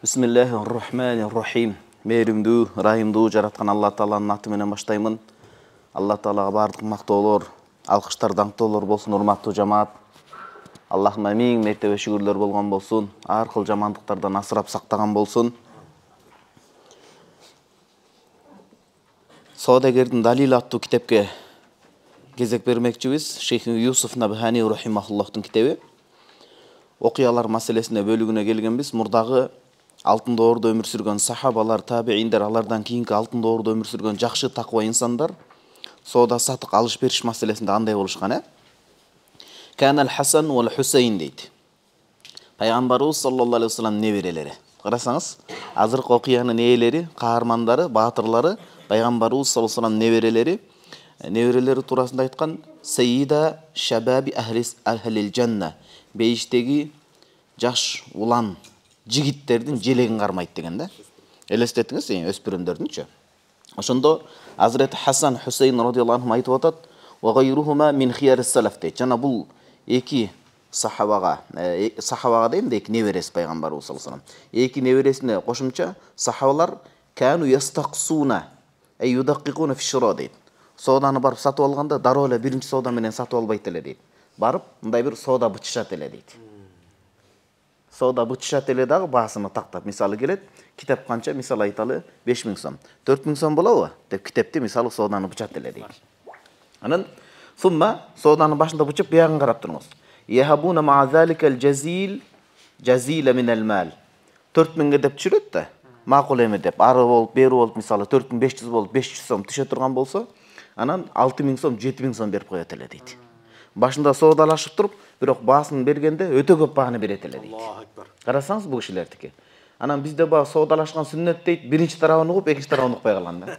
Бисмиллахир-рахманир-рахим. Мээримдүү, ырайымдуу жараткан Алла Тааланын аты менен баштаймын. Алла Таалага бардык мактоолор, алкыштар, даңктоолор болсун, урматтуу жамаат. Аллахыма миң мертебе шүгүрлөр болгон болсун, ар кыл жамандыктардан асырап сактаган болсун. Соодагердин Далил аттуу китепке кезек бермекчибиз. Шейх Юсуф Набхани рахимахуллахтын китеби. Окуялар маселесине бөлүгүнө келгенбиз. Мурдагы алтын доордо өмүр сүргөн сахабалар, табииндер, алардан кийинки алтын доордо өмүр сүргөн жакшы таква инсандар соода сатык алыш бериш маселесинде андай болушкан, Канал Хасан вал Хусейн дейт. Пайгамбарыбыз саллаллаху алейхи вассалам неберелери. Карасаңыз, азыркы окуянын ээлери, каармандары, баатырлары пайгамбарыбыз саллаллаху алейхи вассалам неберелери. Неберелери туурасында айткан Сейида шабаби ахлил жанна. Бейиштеги жаш улан жигиттердин желегин кармайт деген да. Элестетиңиз, өспүрүмдөрдүнчү. Ошондо Азрет Хасан Хусейн радиаллаху анху айтып атат: "Ва гайрухума мин хиярис салаф" дейт. Жана бул эки сахабага дейм, эки неберesi пайгамбарыбыз саллаллаху алейхи вассалам. Эки небересине кошумча сахабалар кану ястаксуна ай юдаккикуна фи шира дейт. Сооданы барып сатып алганда дароо эле биринчи соода менен сатып албайт эле дейт. Барып мындай бир соода бычышат эле дейт. Соода бычышат эле дагы баасыны тактап, мисалы келет, китеп канча, мисалы айталы 5000 сом. 4000 сом болобу деп китепти мисалы сооданы бычат эле дейт. Анан сумма сооданы башында бычып биягын карап туруңуз. Яхабуна ма заликал жазила минал мал. 4000ге деп түшүрөт да. Макул эме деп, ары болуп, бери болуп, мисалы 4500 болуп 500 сом түшө турган болсо, анан 6000 сом, 7000 сом берип коет эле дейт. Башында соодалашып туруп, бирок баасын бергенде өтө көп бааны берет эле дейт. Карасаңыз бул кишилердики. Анан бизде баа соодалашкан сүннөт дейт, биринчи тарабын угуп, экинчи тарабын укпай калган да.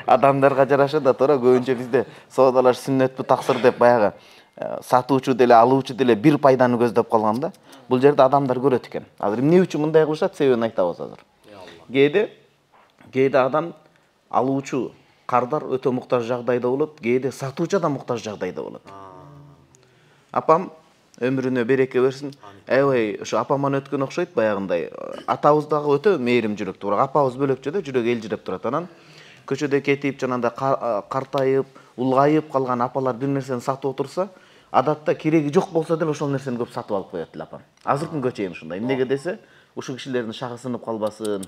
Адамдарга жараша да туура көбүнчө бизде соодалаш сүннөтпү таксыр деп баягы сатуучу деле, алуучу деле бир пайданы көздөп калган да. Бул жерде адамдар көрөт экен. Азыр эмне үчүн мындай кылышат, себебин айтабыз азыр. Кээде адам алуучу кардар өтө муктаж жагдайда болот, кээде сатуучу да муктаж жагдайда болот. Апам өмүрүнө береке берсин. Аябай ошо апаман өткөн окшойт баягындай. Атабыз дагы өтө мээрим жүрөктүү, бирок апабыз бөлөкчө да, жүрөк элжиреп турат. Анан көчөдө кетип, жанагындай картайып, улгайып калган апалар бир нерсени сатып отурса, адатта кереги жок болсо деле ошол нерсени көп сатып алып коет эле апам. Азыркы күнгө чейин ушундай. Эмнеге десе, ушул кишилердин шагы сынып калбасын,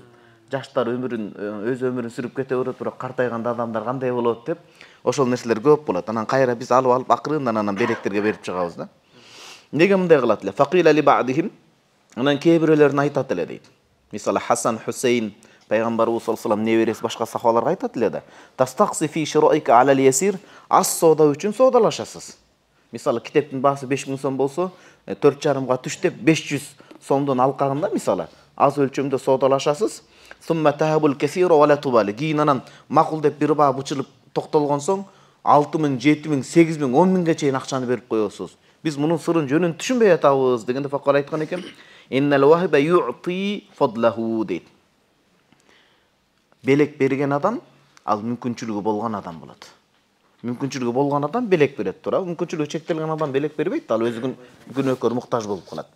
жаштар өз өмүрүн сүрүп кете берет, бирок картайганда адамдар кандай болот деп, ошол нерселер көп болот. Анан кайра биз алып акырындан анан беректерге берип чыгабыз да. Неге мындай кылат эле? Факила ли ба'дихим. Анан кээ бирөөлөрүн айтат эле дейт. Мисалы Хасан Хусейн пайгамбарыбыз саллаллаху алейхи вассалам неберesi башка сахабаларга айтат эле да. Тастакси фи шираика алал ясир. Аз соода үчүн соодалашасыз. Мисалы китептин баасы 5000 сом болсо, 4,5га түш деп 500 сомдон алкагында мисалы аз өлчөмдө соодалашасыз. Сумма тахабул касира ва ла тубали. Кийин анан макул деп бир баа бычылып токтолгон соң 6000, 7000, 8000, 10000ге чейин акчаны берип коесуз. Биз мунун сырын жөнүн түшүнбөй атабыз дегенде факар айткан экен. Иннал вахиба ю'ти фадлаху дейт. Белек берген адам ал мүмкүнчүлүгү болгон адам болот. Мүмкүнчүлүгү болгон адам белек берет, туура. Мүмкүнчүлүгү чектелген адам белек бербейт, ал өзүнүн күнөөкөр муктаж болуп калат.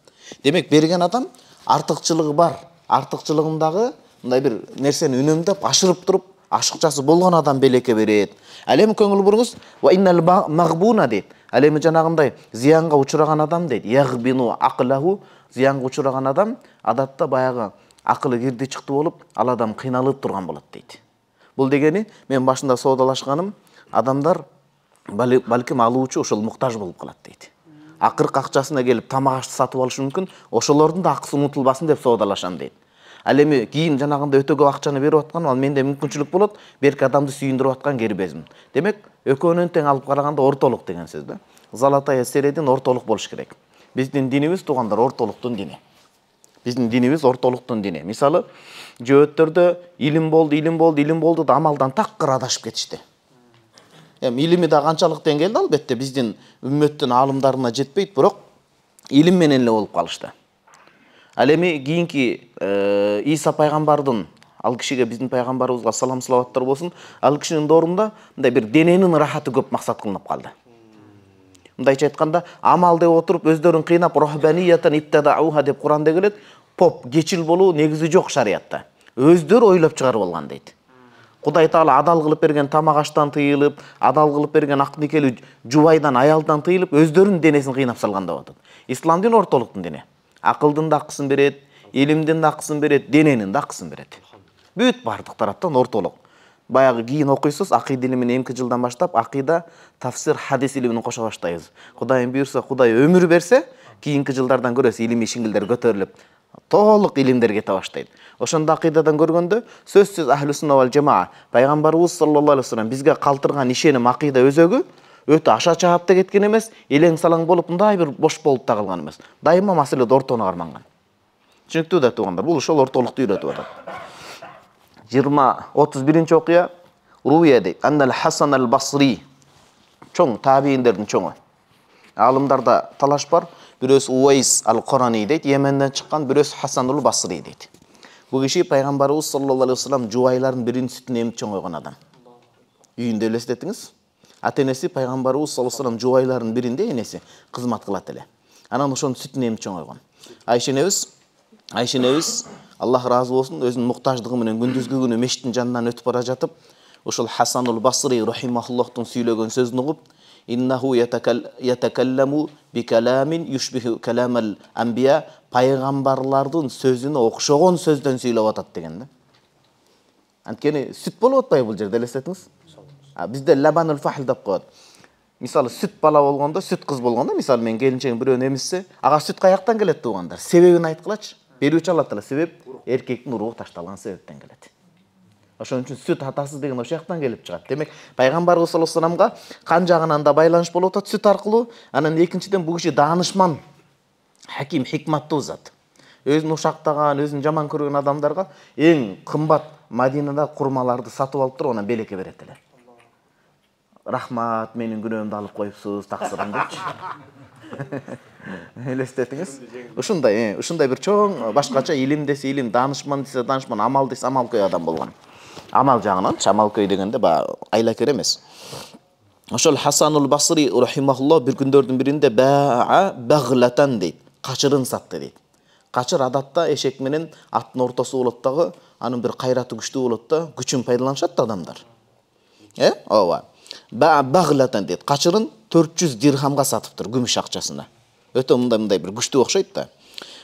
Демек берген адам артыкчылыгы бар. Артыкчылыгындагы мындай бир нерсени үнөмдөп, ашырып туруп, ашыкчасы болгон адам белекке берет. Ал эми көңүл буруңуз, ва иннал магбуна дейт. Ал эми жанагындай зыянга учураган адам дейт. Ягбину акылаху, зыянга учураган адам адатта баягы акылы кирди чыкты болуп, ал адам кыйналып турган болот дейт. Бул дегени мен башында соодалашканым, адамдар балким алуучу ошол муктаж болуп калат дейт. Акыркы акчасына келип тамак ашты сатып алышы мүмкүн, ошолордун да акысы унутулбасын деп соодалашам дейт. Ал эми кийин жанагындай өтө көп акчаны берип аткан, ал менде мүмкүнчүлүк болот, берки адамды сүйүндүрүп аткан кербезим. Демек, экөөнүн тең алып караганда ортолук деген сөз да. Золотая середин ортолук болуш керек. Биздин динибиз туугандар ортолуктун дини. Биздин динибиз ортолуктун дини. Мисалы, жөөттөрдө илим болду да амалдан такыр адашып кетишти. Эми илими да канчалык деңгээлде албетте биздин үммөттүн аалымдарына жетпейт, бирок илим менен эле болуп калышты. Ал эми кийинки Иса пайгамбардын, ал кишиге биздин пайгамбарыбызга салам салаваттар болсун, ал кишинин доорунда мындай бир дененин рахаты көп максат кылынып калды. Мындайча айтканда, амал деп отуруп өздөрүн кыйнап рохбаниятан иттадауха деп Куранда келет. поп кечил болуу негизи жок шариятта. Өздөрү ойлоп чыгарып алган дейт. Кудай Таала адал кылып берген тамак аштан тыйылып, адал кылып берген ак никелүү жубайдан, аялдан тыйылып, өздөрүнүн денесин кыйнап салган деп атат. Ислам дини ортолуктун дини. Акылдын да акысын берет, илимдин да акысын берет, дененин да акысын берет. Бүт бардык тараптан ортолук. Баягы кийин окуйсуз, акыйда илимин 2 жылдан баштап акыйда, тафсир, хадис илимин кошо баштайбыз. Кудайым буйрса, Кудай өмүр берсе, кийинки жылдардан көрөсүз илимий шиңилдер көтөрүлүп, толук илимдер кете баштайт. Ошондо акыйдадан көргөндө сөзсүз ахлу сунна вал жамаа пайгамбарыбыз саллаллаху алейхи вассалам бизге калтырган ишеним акыйда өзөгү өтө аша чаапта кеткен эмес, элең салаң болуп мындай бир бош болуп да калган эмес. Дайыма маселеде ортону карманган. Түшүнүктүү да туугандар, бул ошол ортолукту үйрөтүп атат. 31-чи окуя Руя дейт. Аннал Хасан аль-Басри. Чоң табииндердин чоңу. Алымдарда талаш бар. Бирөөсү Уайс аль-Корани дейт, Йеменден чыккан, бирөөсү Хасан аль-Басри дейт. Бул киши пайгамбарыбыз саллаллаху алейхи вассалам жубайларын биринин сүтүн эмип чоң койгон адам. Үйүндө элестетиңиз. Ата-энеси пайгамбарыбыз саллаллаху алейхи вассалам жубайларын биринде энеси кызмат кылат эле. Анан ошонун сүтүн эмип чоң койгон. Айша энебиз Аллах разы болсун, өзүнүн муктаждыгы менен күндүзгү күнү мешиттин жанынан өтүп бара жатып, ошол Хасан аль-Басри рахимахуллахтын сүйлөгөн сөзүн угуп, иннаху ятакалламу би каламин юшбиху каламал анбия, пайгамбарлардын сөзүнө окшогон сөздөн сүйлөп атат деген да. Анткени сүт болуп атпайбы бул жерде, элестетиңиз? Бизде лабанул фахл деп коет. Мисалы сүт бала болгондо, сүт кыз болгондо, мисалы мен келинчегим бирөөнү эмизсе, ага сүт каяктан келет туугандар? Себебин айткылачы. Берүүчү алат эле, себеп эркектин уругу ташталган себептен келет. Ошон үчүн сүт атасыз деген ошол жактан келип чыгат. Демек, пайгамбарыбыз саллаллаху алейхи вассаламга кан жагынан да байланыш болуп атат сүт аркылуу. Анан экинчиден бул киши даанышман, хаким, хикматтуу зат. Өзүн ушактаган, өзүн жаман көргөн адамдарга эң кымбат Мадинада курмаларды сатып алып туруп, анан белекке берет эле. Рахмат, менин күнөөмдү алып коюпсуз, таксырым депчи. Элестетиңиз. Ушундай бир чоң башкача илим десе илим, даанышман десе даанышман, амал десе амалкөй адам болгон. Амал жагынан, амалкөй дегенде айлакер эмес. Ошол Хасанул Басри рахимахуллах бир күндөрдүн биринде баглатан дейт, качырын сатты дейт. Качыр адатта эшек менен аттын ортосу болот дагы, анын бир кайраты күчтүү болот да, күчүн пайдаланышат да адамдар. Ооба. Баглатан дейт. Качырын 400 дирхамга сатыптыр, күмүш акчасына. Өтө мындай бир күчтүү окшойт да.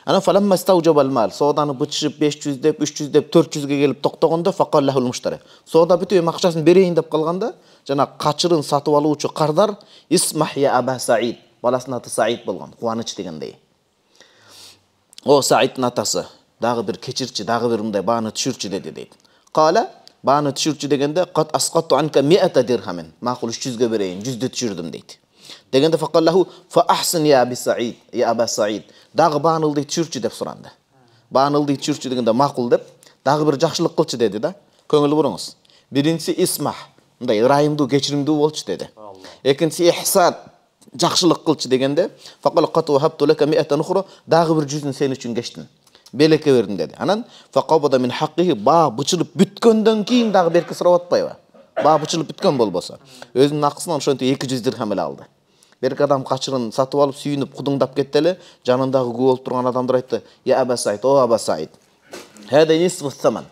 Анан фаламма стаужабал мал, сооданы бычышып 500 деп, 300 деп, 400ге келип токтогондо факаллахул муштари. Соода бүтүп акчасын берейин деп калганда, жана качырын сатып алуучу кардар Исмах я Аба Саид, баласынын аты Саид болгон, кубаныч дегендей. О Саидтин атасы, дагы бир кечирчи, дагы бир мындай бааны түшүрчү деди дейт. Кала, бааны түшүрчү дегенде кат асқатту анка 100 дирхамин. Макул 300ге берейин, 100дү түшүрдүм дейт. Дегенде факаллаху фа ахсын я Аби Саид, я Аба Саид. Дагы баанылды түшүрчү деп суранды. Баанылды түшүрчү дегенде макул деп, дагы бир жакшылык кылчы деди да. Көңүл буруңуз. Биринчиси Исмах, мындай ырайымдуу, кечиримдүү болчу деди. Экинчиси Ихсан, жакшылык кылчы дегенде факал кату хабту лака 100 нухра, дагы бир 100н сен үчүн кечтим. Белекке бердим деди. Анан факабада мин хаккихи, баа бычылып бүткөндөн кийин дагы берки сурап атпайбы? Баа бычылып бүткөн болбосо, өзүнүн акысынан ошентип 200 дирхам эле алды. Берки адам качырын сатып алып, сүйүнүп, кудуңдап кетти эле, жанындагы күбө болуп турган адамдар айтты: "Я Аба Саид, о Аба Саид. Хада нисфу саман."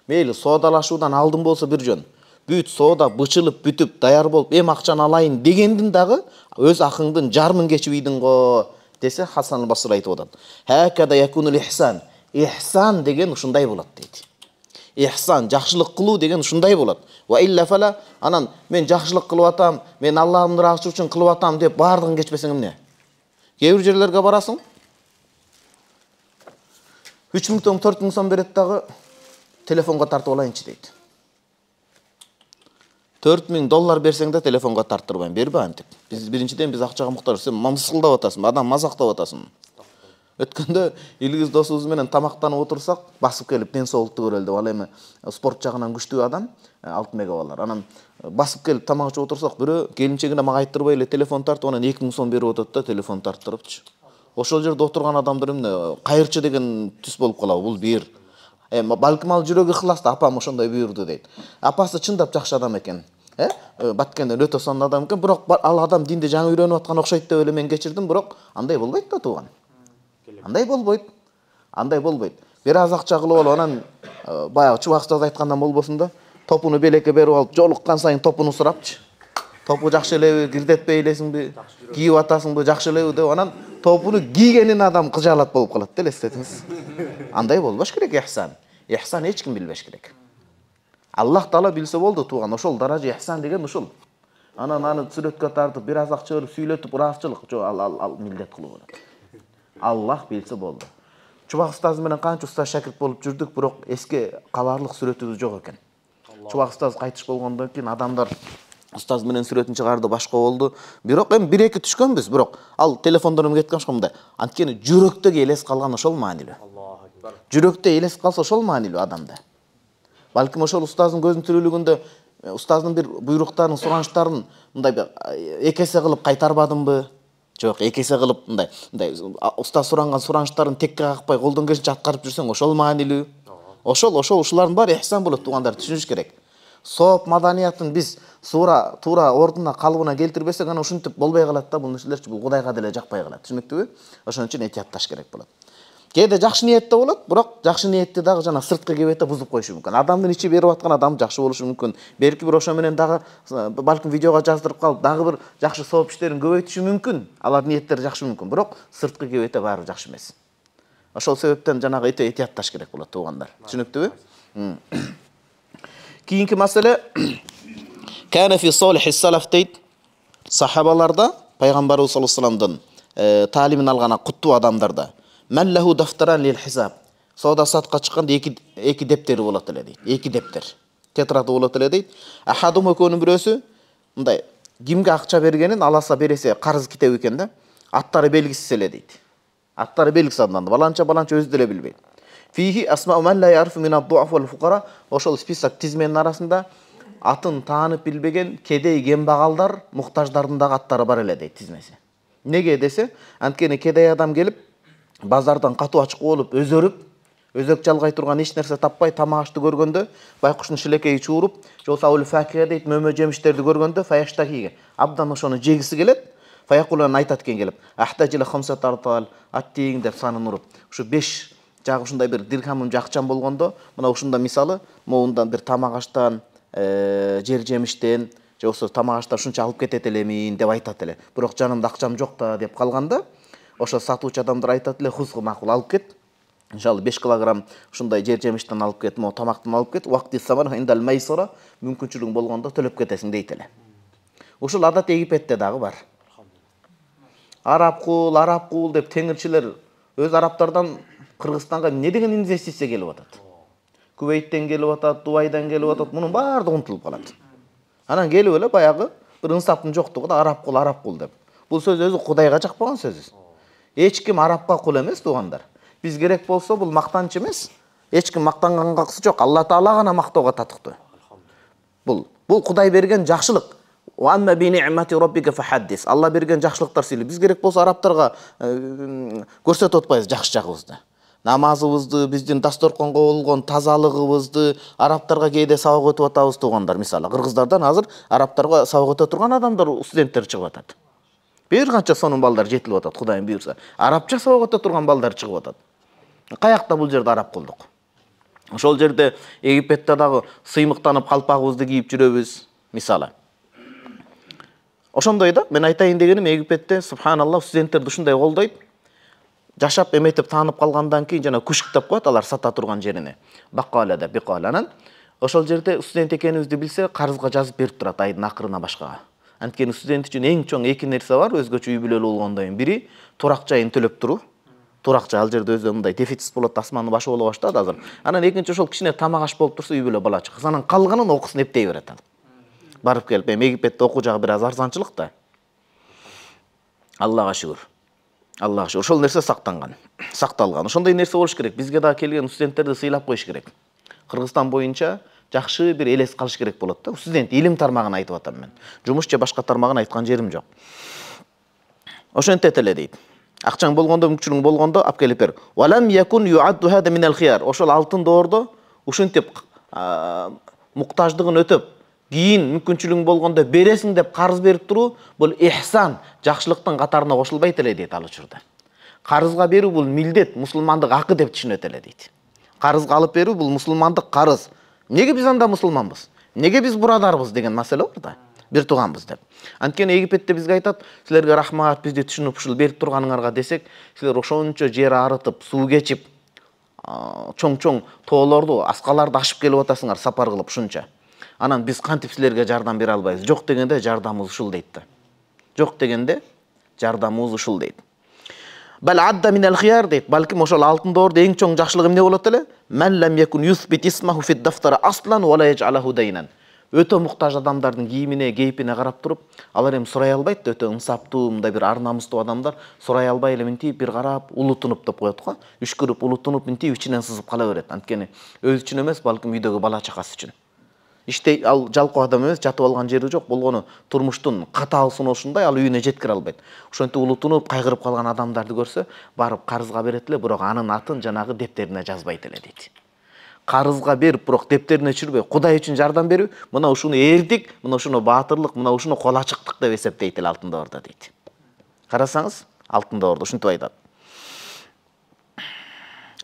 Мейли соодалашуудан алдын болсо бир жөн. Бүт соода бычылып, бүтүп, даяр болуп, эми акчаны алайын дегендин дагы өз акыңдын жарымын кечип ийдиң го, десе Хасан аль-Басри айтып атат. Хакада якунул ихсан. Ихсан деген ушундай болот дейт. Ихсан, жакшылык кылуу деген ушундай болот. Ва илля фала, анан мен жакшылык кылып атам, мен Аллахтын ыраазычылыгы үчүн кылып атам деп бардыгын кечпесең эмне? Кээ бир жерлерге барасың, 3000 сом, 4000 сом берет дагы телефонго тартып алайынчы дейт. $4000 берсең да телефонго тарттырбайм, бербе антип. Биз биринчиден биз акчага муктаж, сен мамсылдап атасың, адам мазактап атасың. Өткөндө илгиз досубуз менен тамактанып отурсак, басып келип ден соолукту көрөлү деп, ал эми спорт жагынан күчтүү адам, алтын мегабалар. Анан басып келип тамак ичип отурсак, бирөө келинчегине мага айттырбай эле телефон тартып, анан 2000 сом берип атат да, телефон тарттырыпчы. Ошол жерде отурган адамдар эмне, кайырчы деген түс болуп калабы, бул бир. Балким ал жүрөгү ыхлас да, апам ошондой буйрду дейт. Апасы чындап жакшы адам экен. Баткенден өтө сонун адам экен, бирок ал адам динди жаңы үйрөнүп аткан окшойт деп эле мен кечирдим, бирок андай болбойт да тууган. Андай болбойт. Андай болбойт. Бир аз акча кылып алып анан баягы Чубак устаз айткандан болбосун да, топуну белекке берип алып, жолуккан сайын топуну сурапчы. Топу жакшы элеби, кирдетпей элесиңби, кийип атасыңбы, жакшы элеби деп анан топуну кийгенин адам кыжаалат болуп калат да, элестетиңиз. Андай болбош керек ихсан. Ихсан эч ким билбеш керек. Аллах Таала билсе болду тууган. Ошол даража ихсан деген ушул. Анан аны сүрөткө тартып, бир аз акча берип сүйлөтүп, ыраазычылык жок, ал милдет кылуу болот. Аллах билсе болду. Чубак устаз менен канча устаз шакирт болуп жүрдүк, бирок эске каларлык сүрөтүбүз жок экен. Чубак устаз кайтыш болгондон кийин адамдар устаз менен сүрөтүн чыгарды, башка болду. Бирок эми 1-2 түшкөнбүз, бирок ал телефондорум кеткен мындай. Анткени жүрөктөгү элес калган ошол маанилүү. Жүрөктө элес калса ошол маанилүү адамда. Балким ошол устаздын көзүнүн тирүүлүгүндө устаздын бир буйруктарын, суранычтарын мындай эки эсе кылып кайтарбадымбы? Жок, эки эсе кылып мындай устаз суранган суранычтарын текке какпай колдон келишинче аткарып жүрсөң ошол маанилүү. Ошол ушулардын баары ихсан болот туугандар, түшүнүш керек. Сооп маданиятын биз туура ордуна, калыбына келтирбесек, анан ушинтип болбой калат да, бул нерселерчи бул Кудайга деле жакпай калат. Түшүнүктүбү? Ошон үчүн этиятташ керек болот. Кээде жакшы ниетте болот, бирок жакшы ниетти дагы жана сырткы кебете бузуп коюшу мүмкүн. Адамдын ичи берип аткан адам жакшы болушу мүмкүн. Белки бир ошо менен дагы балким видеого жаздырып калып, дагы бир жакшы сооп иштерин көбөйтүшү мүмкүн. Алардын ниеттери жакшы мүмкүн, бирок сырткы кебете баары жакшы эмес. Ошол себептен жанагы этиятташ керек болот туугандар. Түшүнүктүбү? Кийинки маселе кана фи солихи салаф дейт. Сахабаларда пайгамбарыбыз саллаллаху алейхи вассаламдын таалимин алган куттуу адамдарда Мәлләху дафтаран лил хисаб. Сауда сатка чыкканда эки дептери болот эле дейт. Эки дептер. Тетрады болот эле дейт. Ахадум экөөнүн бирөөсү мындай кимге акча бергенин аласа бересе карыз китеби экен да. Аттары белгисиз эле дейт. Аттары белгисиз адамдар. Баланча өзү деле билбейт. Фихи асмау ман ла ярфу мин ад-дуаф вал фуқара. Ошол список тизменин арасында атын таанып билбеген кедей кембагалдар, муктаждардын дагы аттары бар эле дейт тизмеси. Неге десе, анткени кедей адам келип базардан катуу ачык болуп, өзөк жалгай турган эч нерсе таппай, тамак ашты көргөндө, байкуштун шилекейи чууруп, же болбосо аулу факия дейт, мөмө жемиштерди көргөндө, фаяштакиге абдан ошону жегиси келет. Фаякулан айтат экен келип, ахтажила хамсат артал, аттиң деп санын уруп. Ушу 5 жагы ушундай бир дирхамым акчам болгондо, мына ушунда мисалы, моундан бир тамак аштан, жер жемиштен, же болбосо тамак аштан ушунча алып кетет элемин деп айтат эле. Бирок жанымда акчам жок да деп калганда, ошо сатуучу адамдар айтат эле, хузгу макул алып кет. Иншалла 5 килограмм ушундай жер жемиштен алып кет, мо тамактан алып кет. Вакти самар индал майсара, мүмкүнчүлүгүң болгондо төлөп кетесиң дейт эле. Ушул адат Египетте дагы бар. Араб кул деп теңирчилер өз араптардан Кыргызстанга не деген инвестиция келип атат. Кувейттен келип атат, Дубайдан келип атат, мунун баардыгы унутулуп калат. Анан келип эле баягы бир инсаптын жоктугу да араб кул деп. Бул сөз өзү Кудайга жакпаган сөз. Эч ким арабка кул эмес туугандар. Биз керек болсо бул мактанч эмес. Эч ким мактанганга кысы жок. Алла Таала гана мактоого татыктуу. Бул Кудай берген жакшылык. Ва амма би ни'мати раббика фахаддис. Алла берген жакшылыктар сыйлы. Биз керек болсо арабтарга көрсөтүп атпайбыз жакшы жагыбызды. Намазыбызды, биздин дасторконго болгон тазалыгыбызды арабтарга кээде сабак өтүп атабыз туугандар. Мисалы, кыргыздардан азыр арабтарга сабак өтө турган адамдар, студенттер чыгып атат. Бир канча сонун балдар жетилип атат, Кудайым буйрса. Арабча сабак өтө турган балдар чыгып атат. Каякта бул жерде араб кылдык. Ошол жерде Египетте дагы сыймыктанып калпагыбызды кийип жүрөбүз, мисалы. Ошондой да, мен айтайын дегеним, Египетте субханаллах студенттерди ушундай колдойт. Жашап эметип таанып калгандан кийин жана күшк деп коет алар сата турган жерине. Баккала деп бикаланан. Ошол жерде студент экенибизди билсе, карызга жазып берип турат айдын акырына башкага. Анткени студент үчүн эң чоң эки нерсе бар, өзгөчө үй бүлөлүү болгондон кийин. Бири турак жайын төлөп туруу. Туракча ал жерде өзү мындай дефицит болот, асмандын башы боло баштады азыр. Анан экинчи ошол кичине тамак аш болуп турса, үй бүлө бала чакыс. Анан калганын окусын эптей берет ал. Барып келип, Египетте окуу жагы бир аз арзанчылык да. Аллага шүгүр. Аллага шүгүр. Ошол нерсе сакталган. Ошондой нерсе болуш керек. Бизге да келген студенттерди сыйлап коюш керек. Кыргызстан боюнча жакшы бир элес калыш керек болот да. Студент илим тармагын айтып атам мен. Жумуш же башка тармагын айткан жерим жок. Ошентет эле дейт. Акчаң болгондо, мүмкүнчүлүгүң болгондо алып келип бер. Валам якун юадду хада минал хияр. Ошол алтын доордо ушинтип муктаждыгын өтөп, кийин мүмкүнчүлүгүң болгондо бересиң деп карыз берип туруу, бул ихсан, жакшылыктын катарына кошулбайт эле дейт ал учурда. Карызга берүү бул милдет, мусулмандык акы деп түшүнөт эле дейт. Карызга алып берүү бул мусулмандык карыз. Неге биз анда мусулманбыз? Неге биз бурадарбыз деген маселе бар да. Бир тууганбыз деп. Анткени Египетте бизге айтат, силерге рахмат, бизди түшүнүп ушул берип турганыңарга десек, силер ошончо жер арытып, суу кечип, чоң-чоң тоолорду, аскаларды ашып келип атасыңар сапар кылып ушунча. Анан биз кантип силерге жардам бере албайбыз? Жок дегенде жардамыбыз ушул дейт да. Жок дегенде жардамыбыз ушул дейт. Бал адда минал хияр дейт. Балким ошол алтын доордо эң чоң жакшылыгы эмне болот эле? Ман лам якун юсбит исмаху фид дафтара аслан ва ла яжалаху дайнан. Өтө муктаж адамдардын кийимине, кейпине карап туруп, алар эми сурай албайт да, өтө ынсаптуу, мындай бир ар намыстуу адамдар сурай албай эле минтип бир карап, улутунуп деп коет го. Үшкүрүп, улутунуп минтип ичинен сызып кала берет. Анткени өз үчүн эмес, балким үйдөгү бала чакасы үчүн. Иштей ал жалкоо адам эмес, жатып алган жери жок, болгону турмуштун катаал суношундай ал үйүнө жеткире албайт. Ошентип улутунуп, кайгырып калган адамдарды көрсө, барып карызга берет эле, бирок анын атын жанагы дептерине жазбайт эле дейт. Карызга берип, бирок дептерине түшүрбөй, Кудай үчүн жардам берүү, мына ушуну эрдик, мына ушуну баатырлык, мына ушуну кол ачыктык деп эсептейт эле алтын доордо дейт. Карасаңыз, алтын доордо ушинтип айтат.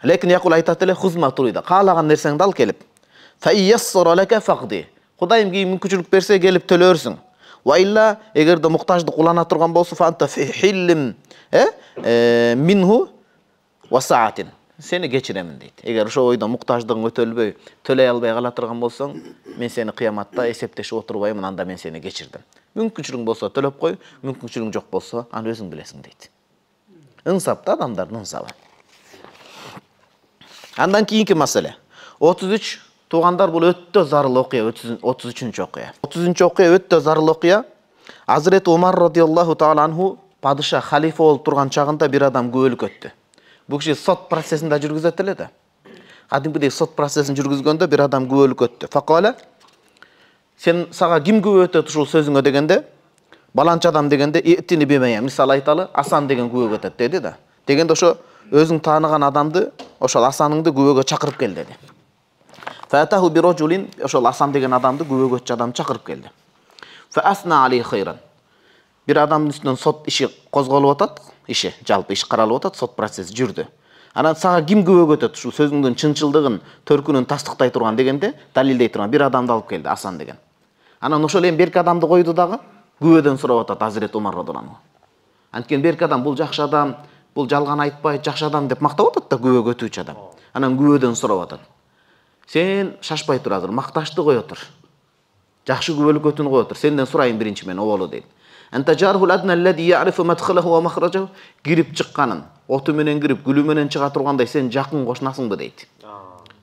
Лекин якул айтат эле, хузма турида, каалаган нерсеңди ал келип. Кудайым кийин мүмкүнчүлүк берсе келип төлөрсүң. Ва илла эгерде муктаждык улана турган болсо фанта фи хиллим минху ва саатин. Сени кечиремин дейт. Эгер ошо ойдо муктаждыгың өтөлбөй, төлөй албай кала турган болсоң, мен сени кыяматта эсептешип отурбаймын, анда мен сени кечирдим. Мүмкүнчүлүгүң болсо төлөп кой, мүмкүнчүлүгүң жок болсо, аны өзүң билесиң дейт. Ынсап да адамдардын ынсабы. Андан кийинки маселе. 33 Тугандар, бул өтө зарыл окуя, 33-чү окуя. 30-чу окуя өтө зарыл окуя. Азирет Умар радиаллаху таала анху падыша халифа болуп турган чагында бир адам күбөлүк өттү. Бул киши сот процессинде жүргүзөт эле да. Кадимкидей сот процессин жүргүзгөндө бир адам күбөлүк өттү. Факала, сага ким күбө өтөт ушул сөзүңө дегенде, баланча адам дегенде, этини бемея, мисалы айталы, Асан деген күбө өтөт деди да. Дегенде ошо өзүң тааныган адамды, ошол Асаныңды күбөгө чакырып кел деди. Фатаху бирожулин, ошол Асан деген адамды күбөгө адам чакырып келди. Фасна алей хайран. Бир адамдын үстүнөн сот иши козголуп атат, иши, жалпы иш каралып атат, сот процесси жүрдү. Анан сага ким күбөгө өтөт ушул сөзүңдүн чынчылдыгын, төркүнүн тастыктай турган дегенде, далилдей турган бир адамды алып келди, Асан деген. Анан ошол эми берки адамды койду дагы, күбөдөн сурап атат Азирет Умар радиаллаху. Анткени берки адам бул жакшы адам, бул жалган айтпайт, жакшы адам деп мактап атат да күбөгө өтүүчү адам. Анан күбөдөн сурап атат. Сен шашпай тур азыр, макташты кое тур. Жакшы күбөлүк өтүүнү кое тур. Сенден сурайын биринчи мен, оболу дейт. Анта жархул адна аллади я'рифу мадхалаху ва махражаху, кирип чыкканын, оту менен кирип, гүлү менен чыга тургандай сен жакын кошунасыңбы дейт.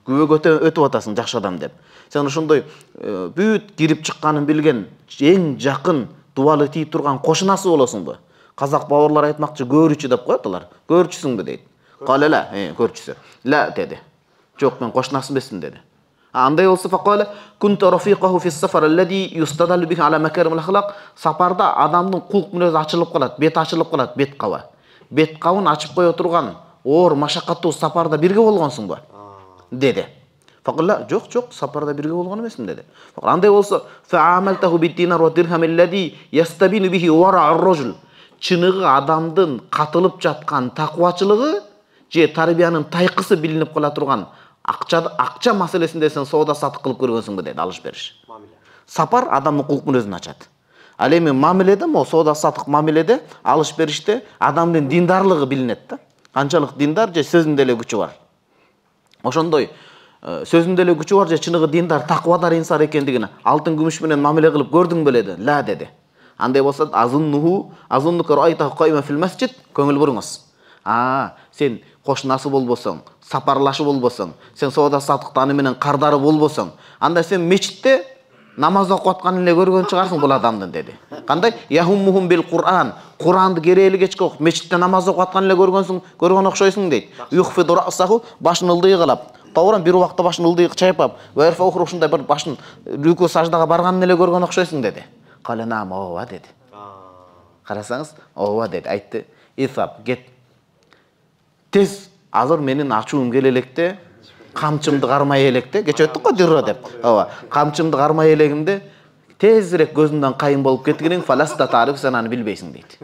Күбөгө өтүп атасың жакшы адам деп. Сен ошондой бүт кирип чыкканын билген, эң жакын дубалы тийип турган кошунасы болосуңбу? Казак бабарлар айтмакчы, көрүүчү деп коет алар. Көрчүсүңбү дейт. Калала, көрчүсү. Ла деди. Жок, мен кошунасы эмесмин деди. Андай болсо факала кунту рафиqahu fi as-safar alladhi yustadallu bihi ala makarim al-akhlaq. Сапарда адамдын кулк мүнөзү ачылып калат, бет ачылып калат, бет каба. Бет кабын ачып кое турган оор машакаттуу сапарда бирге болгонсуңбу? Деди. Факала жок, сапарда бирге болгон эмесмин деди. Факала андай болсо fa'amaltahu bid-dinar wa dirham alladhi yastabinu bihi wara' ar-rajul. Чыныгы адамдын катылып жаткан такыбачылыгы же тарбиянын тайкысы билинип кала турган акча маселесинде сен соода сатык кылып көргөнсүңбү деди, алыш бериш. Сапар адамдын кулк мүнөзүн ачат. Ал эми мамиледе, соода сатык мамиледе, алыш бериште адамдын диндарлыгы билинет да. Канчалык диндар же сөзүндө эле күчү бар. Ошондой сөзүндө эле күчү бар же чыныгы диндар, такыбадар инсан экендигин алтын күмүш менен мамиле кылып көрдүң беле деди. Ла деди. Андай болсо азуннука райта кайма фил масжид, көңүл буруңуз. Сен кошунасы болбосоң, сапарлашы болбосоң, сен соода сатыкта аны менен кардары болбосоң, анда сен мечитте намаз окуп атканын эле көргөн чыгарсың бул адамдын деди. Кандай? Яхуммухум бил Кур'ан. Куранды керели кечке окуп, мечитте намаз окуп атканын эле көргөн окшойсуң дейт. Юхфиду расаху, башын ылдый кылап, туура бир убакта башын ылдый чайпап, варфа ухру ушундай бир башын рүкү саждага барганын эле көргөн окшойсуң деди. Каланам ооба деди. Карасаңыз, ооба деди, айтты. Исап, кет. Тез азыр менин ачуум келе электе, камчымды кармай электе, кече өттүк го дирро деп. Ооба, камчымды кармай элегимде тезирээк көзүңдөн кайын болуп кеткениң фаласта тариф, сен аны билбейсиң дейт.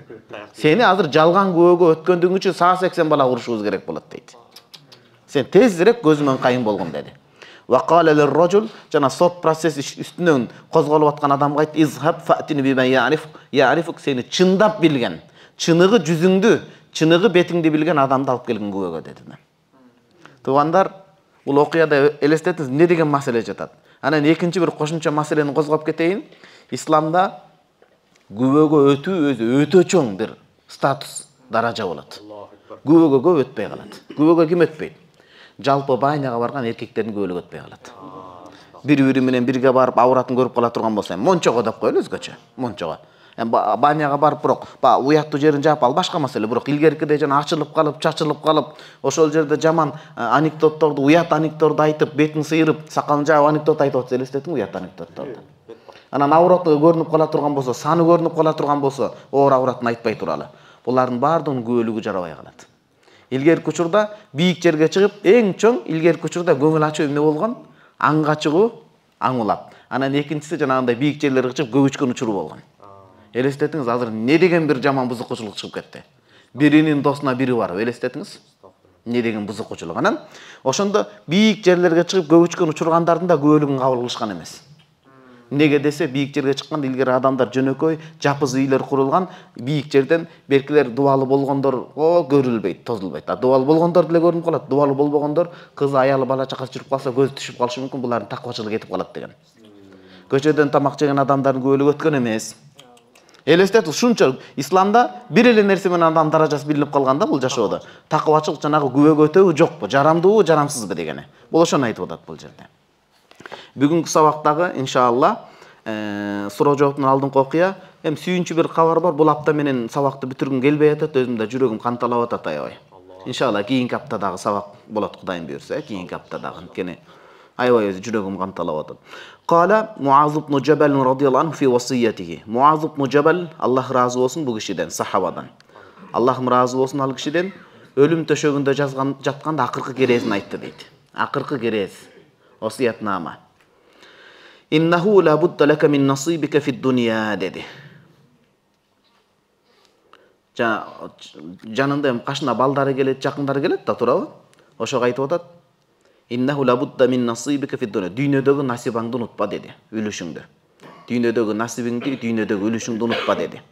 Сени азыр жалган күбөгө өткөндүгүң үчүн 80 бала урушубуз керек болот дейт. Сен тезирээк көзүңдөн кайын болгон деди. Вакала лир-раджул, жана сот процесси үстүнөн козголуп аткан адамга айтты: "Изхаб фатини бима я'рифук", сени чындап билген, чыныгы жүзүңдү, чыныгы бетиңди билген адамды алып келген күбөгө деди. Туугандар, бул окуяда элестетиңиз эмне деген маселе жатат. Анан экинчи бир кошумча маселени козгоп кетейин. Исламда күбөгө өтүү өзү өтө чоң бир статус, даража болот. Күбөгө көп өтпөй калат. Күбөгө ким өтпөйт? Жалпы баняга барган эркектердин көбөлүгү өтпөй калат. Бири-бири менен бирге барып авратын көрүп кала турган болсо, мончого деп коелу өзгөчө, мончого. Баняга барып бирок уяттуу жерин жаап ал башка маселе, бирок илгеркидей жана ачылып калып, чачылып калып, ошол жерде жаман анекдотторду, уят анекдотторду айтып, бетин сыйрып, сакалын жаап анекдот айтып атса элестетиң уят анекдотторду. Анан авраты көрүнүп кала турган болсо, саны көрүнүп кала турган болсо, оор авратын айтпай туралы. Булардын баардыгынын күбөлүгү жарабай калат. Илгерки учурда бийик жерге чыгып, эң чоң илгерки учурда көңүл ачуу эмне болгон? Аңга чыгуу, аң улап. Анан экинчиси жанагындай бийик жерлерге чыгып көгүчкөн учуру болгон. Элестетиңиз, азыр эмне деген бир жаман бузукчулук чыгып кетти. Биринин досуна бири барып, элестетиңиз. Эмне деген бузукчулук. Анан ошондо бийик жерлерге чыгып көгүчкөн учургандардын да күбөлүгүн кабыл кылышкан эмес. Неге десе, бийик жерге чыкканда илгери адамдар жөнөкөй, жапыз үйлөр курулган, бийик жерден белкилер дубалы болгондор көрүлбөйт, тозулбойт. Дубалы болгондор деле көрүнүп калат, дубалы болбогондор кызы, аялы, бала чакасы жүрүп калса көзү түшүп калышы мүмкүн, булардын такыбачылыгы кетип калат деген. Көчөдөн тамак жеген адамдардын күбөлүгү өткөн эмес. Элестет, ушунча исламда бир эле нерсе менен адам даражасы билинип калганда бул жашоодо. Такыбачылык жанагы күбөгө өтөбү жокпу, жарамдуубу, жарамсызбы дегени. Бул ошону айтып атат бул жерде. Бүгүнкү сабактагы иншалла суроо жооптун алдыңкы окуя, эми сүйүнчү бир кабар бар. Бул апта менен сабакты бүтүргүм келбей атат, өзүм да жүрөгүм канталап атат аябай. Иншалла кийинки аптадагы сабак болот, Кудайым буйрса, кийинки аптадагы. Анткени аябай өзү жүрөгүм канталап атат. Кала Муаз ибн Жабал радияллаху анху фи васиятихи. Муаз ибн Жабал, Аллах разы болсун бу кишиден, сахабадан. Аллахым разы болсун ал кишиден, өлүм төшөгүндө жатканда акыркы керезин айтты дейт. Акыркы керез, васиятнама. Иннаху ла будда лака мин насибика фид дунья деди. Жанында эми кашына балдары келет, жакындары келет да, туурабы? Ошого айтып атат. Иннаху ла будда мин насибика фид дунья. Дүйнөдөгү насибаңды унутпа деди, үлүшүңдү. Дүйнөдөгү насибиңди, дүйнөдөгү үлүшүңдү унутпа деди.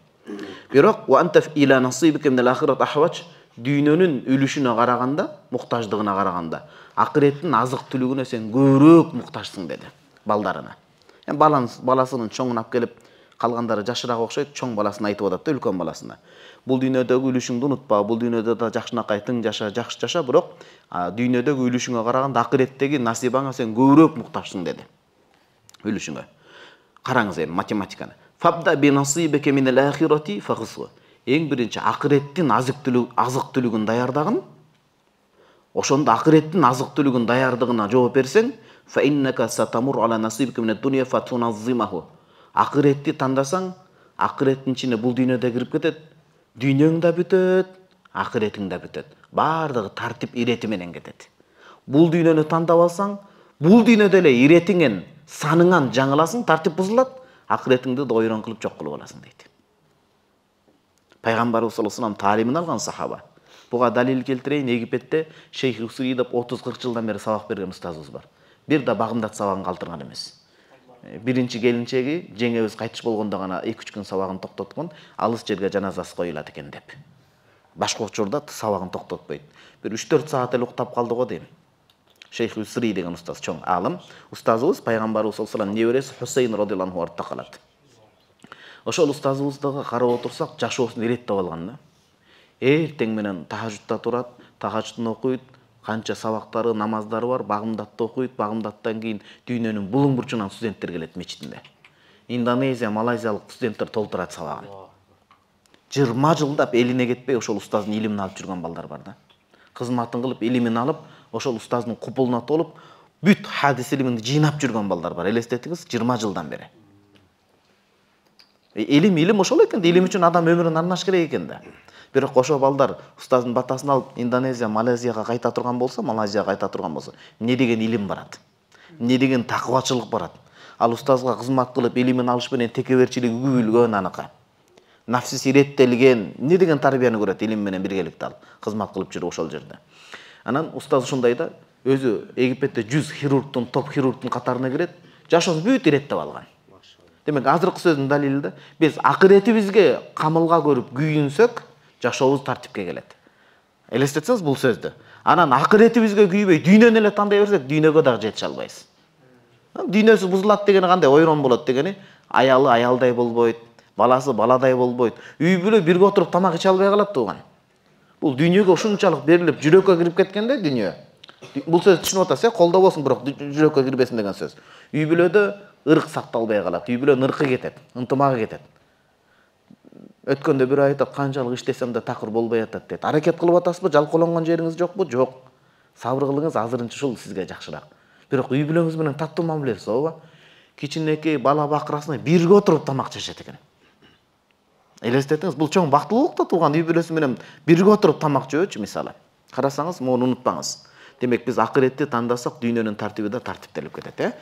Бирок ва анта ила насибика мин ал-ахират ахвач. Дүйнөнүн үлүшүнө караганда, муктаждыгына караганда, акыреттин азык түлүгүнө сен көбүрөөк муктажсың деди, балдарына. Баласынын чоңун алып келип, калгандары жашыраак окшойт, чоң баласына айтып атат да, үлкөн баласына. Бул дүйнөдөгү үлүшүңдү унутпа, бул дүйнөдө да жакшынакай тың жаша, жакшы жаша, бирок дүйнөдөгү үлүшүңө караганда акыреттеги насибаңа сен көбүрөөк муктажсың деди. Үлүшүңө. Караңыз эми математиканы. Фабда би насибика мин ал-ахирати фагсу. Эң биринчи акыреттин азык түлүгүн даярдагын. Ошондо акыреттин азык түлүгүн даярдыгына жооп берсең, fa innaka satamur ala nasibika min ad-dunya fatunazzimahu. Акыретти тандасаң, акыреттин ичине бул дүйнөдө кирип кетет, дүйнөң да бүтөт, акыретиң да бүтөт. Бардыгы тартип ирети менен кетет. Бул дүйнөнү тандап алсаң, бул дүйнөдө эле иретиңен, саныңан жаңыласың, тартип бузулат, акыретиңди да ойрон кылып жок кылып аласың дейт. Пайгамбарыбыз саллаллаху алейхи ва саллям таалимин алган сахаба. Буга далил келтирейин, Египетте Шейх Усри деп 30-40 жылдан бери сабак берген устазыбыз бар. Бир да багымдат сабагын калтырган эмес. Биринчи келинчеги жеңебиз кайтыш болгондо гана 2-3 күн сабагын токтоткон, алыс жерге жаназасы коюлат экен деп. Башка учурда сабагын токтотпойт. Бир 3-4 саат эле уктап калды го дейм. Шейх Усри деген устаз, чоң алым, устазыбыз пайгамбарыбыз саллаллаху алейхи ва саллям неберesi Хусейн радияллаху анху артта калат. Ошол устазыбыздыга карап отурсак, жашоосун иреттеп алган да. Эртең менен тахажжудта турат, тахажжудун окуйт, канча сабактары, намаздары бар, багымдатты окуйт, багымдаттан кийин дүйнөнүн булуң бурчунан студенттер келет мечитинде. Индонезия, Малайзиялык студенттер толтурат сабагын. 20 жылдап элине кетпей ошол устаздын илимин алып жүргөн балдар бар да. Кызматын кылып, илимин алып, ошол устаздын купулуна толуп, бүт хадис илимин жыйнап жүргөн балдар бар. Элестетиңиз, 20 жылдан бери. Илим ошол экен да, илим үчүн адам өмүрүн арнаш керек экен да. Бирок ошо балдар устаздын батасын алып Индонезия, Малайзияга кайта турган болсо, Малайзияга кайта турган болсо, эмне деген илим барат? Эмне деген такыбачылык барат? Ал устазга кызмат кылып илимин алыш менен текеберчилиги күбүлгөн аныкы. Нафсиси иреттелген, эмне деген тарбияны көрөт илим менен биргеликте ал кызмат кылып жүрүп ошол жерде. Анан устаз ушундай да, өзү Египетте 100 хирургдун, топ хирургдун катарына кирет, жашоосун бүт иреттеп алган. Демек азыркы сөздүн далили да, биз акыретибизге камылга көрүп күйүнсөк, жашообуз тартипке келет. Элестетсеңиз бул сөздү. Анан акыретибизге күйбөй дүйнөнү эле тандай берсек, дүйнөгө дагы жете албайбыз. Дүйнөсү бузулат дегени кандай? Ойрон болот дегени, аялы аялдай болбойт, баласы баладай болбойт. Үй бүлө бирге отуруп тамак иче албай калат тууган. Бул дүйнөгө ушунчалык берилип, жүрөккө кирип кеткенде дүйнө. Бул сөз түшүнүп атасыз, колдо болсун, бирок жүрөккө кирбесин деген сөз. Үй бүлөдө ырк сакталбай калат, үй бүлөнүн ыркы кетет, ынтымагы кетет. Өткөндө бир айтат, канчалык иштесем да такыр болбой атат дейт. Аракет кылып атасызбы? Жалкоолонгон жериңиз жокпу? Жок. Сабыр кылыңыз, азырынча ушул сизге жакшыраак. Бирок үй бүлөңүз менен таттуу мамилеси ооба. Кичинекей бала бакырасына бирге отуруп тамак жешет экен. Элестетиңиз, бул чоң бактылык да тууган үй бүлөсү менен бирге отуруп тамак жөөчү мисалы. Карасаңыз, муну унутпаңыз. Демек биз акыретти тандасак, дүйнөнүн тартиби да тартиптелип кетет,